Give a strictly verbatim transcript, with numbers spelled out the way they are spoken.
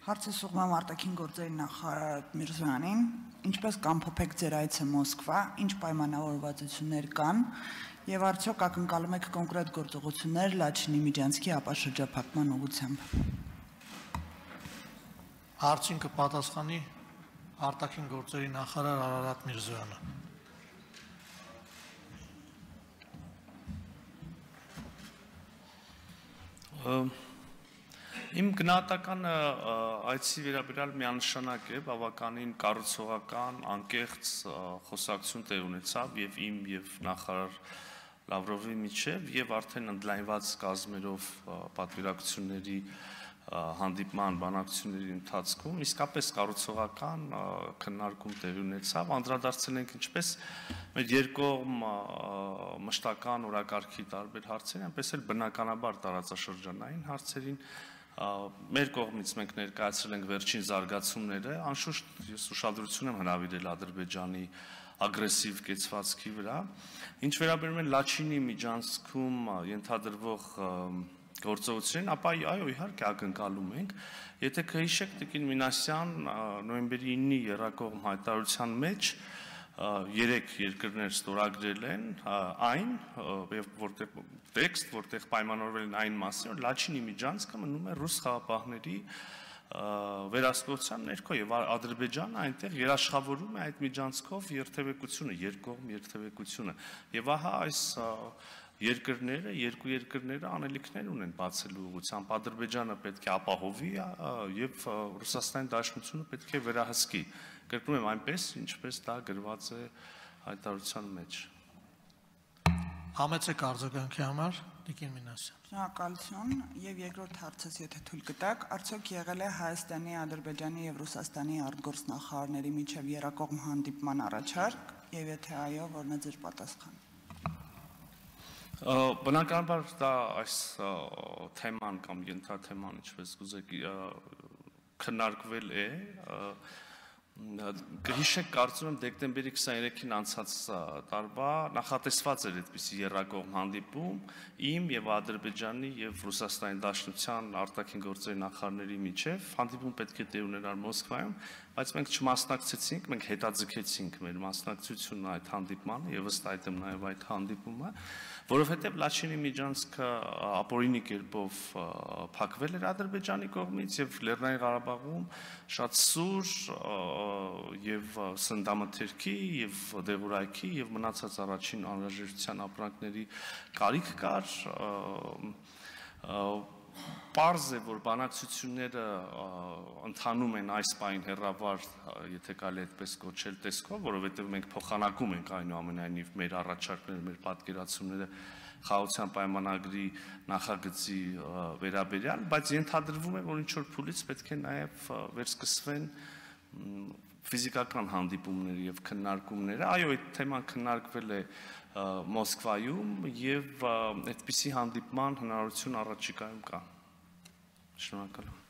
Հարցը ուղղվում է արտաքին գործերի նախարար Միրզոյանին, ինչպես կամփոփեք ձեր այցը Մոսկվա, ինչ պայմանավորվածություններ կան եւ արդյոք ակնկալում եք կոնկրետ գործողություններ Լաչինի Միջանցքի ապաշրջափակման ուղղությամբ։ Հարցին կպատասխանի արտաքին գործերի նախարար Արարատ Միրզոյանը։ Իմ գնահատականը այցի վերաբերյալ միանշանակ է, բավականին կառուցողական, անկեղծ խոսակցություն տեղ ունեցավ եւ իմ եւ նախարար Լավրովի միջեւ եւ արդեն ընդլայնված կազմերով պատվիրակությունների հանդիպման բանակցությունների ընթացքում իսկապես կառուցողական քննարկում տեղի ունեցավ, անդրադարձել ենք ինչպես մեր երկկողմ մշտական օրակարգի տարբեր հարցերին, այնպես էլ բնականաբար տարածաշրջանային հարցերին մեր կողմից մենք ներկայացրել ենք վերջին զարգացումները, անշուշտ ես ուշադրություն եմ հրավիրել Ադրբեջանի ագրեսիվ կեցվածքի վրա, ինչ վերաբերում է Լաչինի Միջանցքում ենթադրվող գործողություններին, ապա այո, իհարկե ակնկալում ենք, եթե կհիշեք Տիկին Մինասյան նոյեմբերի իննի եռակողմ հայտարարության մեջ երեք երկրներ ստորագրել են այն եւ որտեղ տեքստ, որտեղ պայմանավորվել են այն մասին, որ Լաչինի Միջանցքը մնում է ռուս խաղապահների վերահսկողության ներքո եւ Ադրբեջանը այնտեղ երաշխավորում է այդ միջանցքով երթևեկությունը, երկկողմ երթևեկությունը եւ ահա այս երկրները, երկու երկրները անելիքներ ունեն բացելու ուղղությամբ, Ադրբեջանը պետք է ապահովի եւ Ռուսաստանի Դաշնությունը պետք է վերահսկի։ Կրկնում եմ այնպես, ինչպես դա գրված է հայտարարության մեջ։ Համեցեք արձագանքի համար, Տիկին Մինասյան։ Շնորհակալություն եւ երկրորդ հարցս, եթե թույլ կտաք, արդյոք եղել է Հայաստանի, Ադրբեջանի եւ Ռուսաստանի արտգործնախարարների միջև եռակողմ հանդիպման առաջարկ եւ եթե այո, որն է ձեր պատասխանը։ Բնականաբար դա այս թեման կամ ենթաթեման, ինչպես կուզեք, քննարկվել է, կհիշեք, կարծում եմ դեկտեմբերի քսաներեքին անցած տարվա նախատեսված էր այդպիսի եռակողմ հանդիպում իմ եւ Ադրբեջանի եւ Ռուսաստանի Դաշնության արտաքին գործերի նախարարների միջեւ, հանդիպում պետք է տեղ ունենար Մոսկվայում, բայց մենք չմասնակցեցինք, մենք հետաձգեցինք մեր մասնակցությունը այդ հանդիպմանը եւ ըստ այդմ նաեւ այդ հանդիպումը, որովհետեւ Լաչինի Միջանցքը ապօրինի կերպով փակվել էր Ադրբեջանի կողմից եւ Լեռնային Ղարաբաղում շատ սուր եւ սննդամթերքի եւ դեղորայքի եւ մնացած առաջին անհրաժեշտության ապրանքների կարիք կար, պարզ է, որ բանակցությունները ընթանում են այս պահին հեռավար, եթե կարելի այդպես կոչել տեսքով, որովհետև մենք փոխանակում ենք այնուամենայնիվ մեր առաջարկները, մեր պատկերացումները խաղաղության պայմանագրի նախագծի վերաբերյալ, բայց ենթադրվում է, որ ինչ որ փուլից պետք է նաև վերսկսվեն ֆիզիկական հանդիպումները եւ քննարկումները, այո, այդ թեման քննարկվել է Մոսկվայում եւ այդպիսի հանդիպման հնարավորություն առաջիկայում կա։ Շնորհակալ եմ։